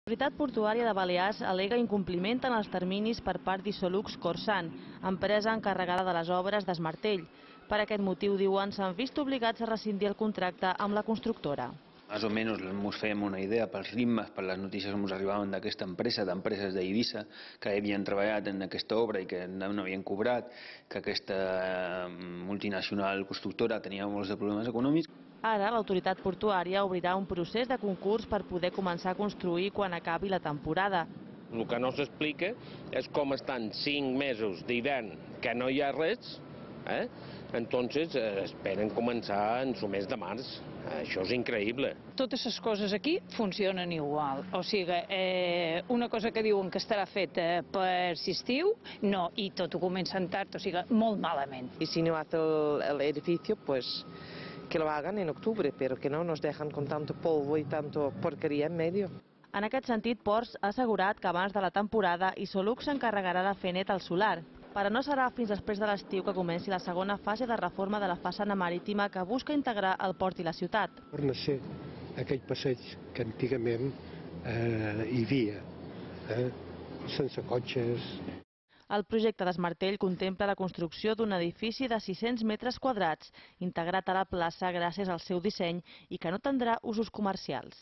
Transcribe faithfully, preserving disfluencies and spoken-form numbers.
L'Autoritat Portuària de Balears al·lega incompliment en els terminis per part d'Isolux Corsan, empresa encarregada de les obres d'Esmartell. Per aquest motiu, diuen, s'han vist obligats a rescindir el contracte amb la constructora. Más o menos ens fem una idea pels ritmes, per les notícies que ens arribaven d'aquesta empresa, d'empreses d'Eivissa que havien treballat en aquesta obra i que no havien cobrat, que aquesta multinacional constructora tenia molts de problemes econòmics. Ara, l'autoritat portuària obrirà un procés de concurs per poder començar a construir quan acabi la temporada. El que no s'explica és com estan cinc mesos d'hivern que no hi ha res, eh? Entonces eh, esperen començar en el mes de març. Això és increïble. Totes les coses aquí funcionen igual. O sigui, eh, una cosa que diuen que estarà feta per l'estiu, no, i tot ho comencen tard, o sigui, molt malament. I si no hace el, el edificio, pues que lo hagan en octubre, pero que no nos dejan con tanto polvo y tanto porquería en medio. En aquest sentit, Ports ha assegurat que abans de la temporada Isolux s'encarregarà de fer net el solar. Però no serà fins després de l'estiu que comenci la segona fase de reforma de la façana marítima que busca integrar el port i la ciutat. Torna a ser aquell passeig que antigament eh, hi havia, eh, sense cotxes. El projecte d'Esmartell contempla la construcció d'un edifici de sis-cents metres quadrats, integrat a la plaça gràcies al seu disseny i que no tindrà usos comercials.